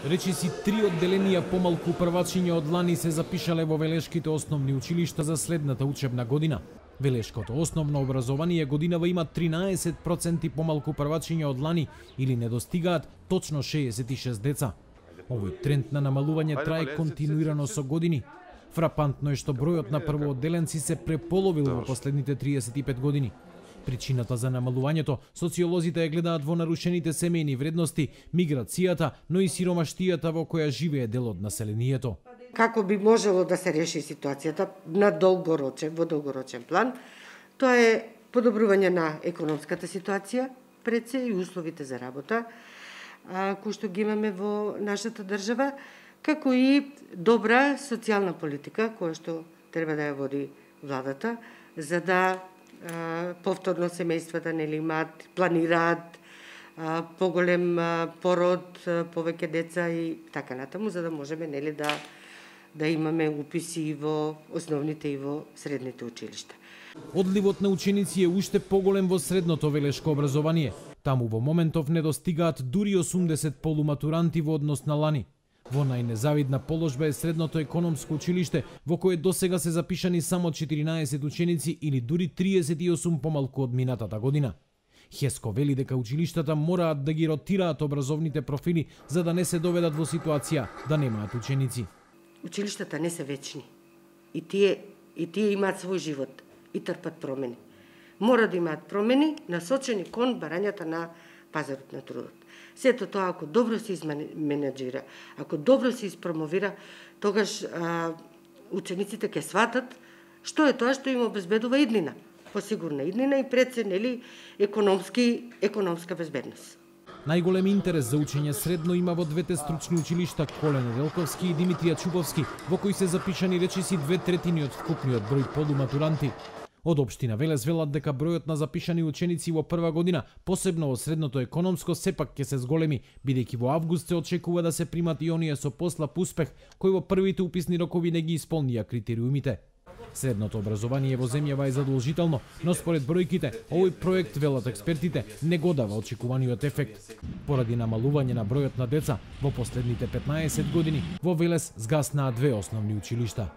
Речиси 3 одделенија помалку првачиња од лани се запишале во Велешките основни училишта за следната учебна година. Велешкото основно образование годинава има 13% помалку првачиња од лани или не достигаат точно 66 деца. Овој тренд на намалување трае континуирано со години. Фрапантно е што бројот на првоодделенци се преполовил во последните 35 години. Причината за намалувањето социолозите ја гледаат во нарушените семејни вредности, миграцијата, но и сиромаштијата во која живее дел од населението. Како би можело да се реши ситуацијата во долгорочен план? Тоа е подобрување на економската ситуација, пред се и условите за работа, кои што ги имаме во нашата држава, како и добра социјална политика, која што треба да ја води владата, за да повторно семејствата имаат, планираат поголем пород, повеќе деца и така натаму, за да можеме да имаме уписи и во основните и во средните училишта. Одливот на ученици е уште поголем во средното велешко образование. Таму во моментов не достигаат дури 80 полуматуранти во однос на лани. Во најнезавидна положба е средното економско училиште, во кое досега се запишани само 14 ученици или дури 38 помалку од минатата година. Хеско вели дека училиштата мораат да ги ротираат образовните профили за да не се доведат во ситуација да немаат ученици. Училиштата не се вечни. И тие имаат свој живот и трпат промени. Мора да имаат промени насочени кон барањата на пазарот на трудот. Сето тоа, ако добро се изменеджира, ако добро се испромовира, тогаш учениците ќе сватат што е тоа што им обезбедува иднина, посигурна иднина и пред се, економска безбедност. Најголем интерес за учење средно има во двете стручни училишта Колен Велковски и Димитрија Чуповски, во кои се запишани речиси 2/3 од вкупниот број полуматуранти. Од општина Велес велат дека бројот на запишани ученици во прва година, посебно во средното економско, сепак ќе се зголеми, бидејќи во август се очекува да се примат и оние со послаб успех, кои во првите уписни рокови не ги исполнија критериумите. Средното образование во земјава е задолжително, но според бројките, овој проект, велат експертите, не го дава очекуваниот ефект. Поради намалување на бројот на деца, во последните 15 години во Велес згаснаа 2 основни училишта.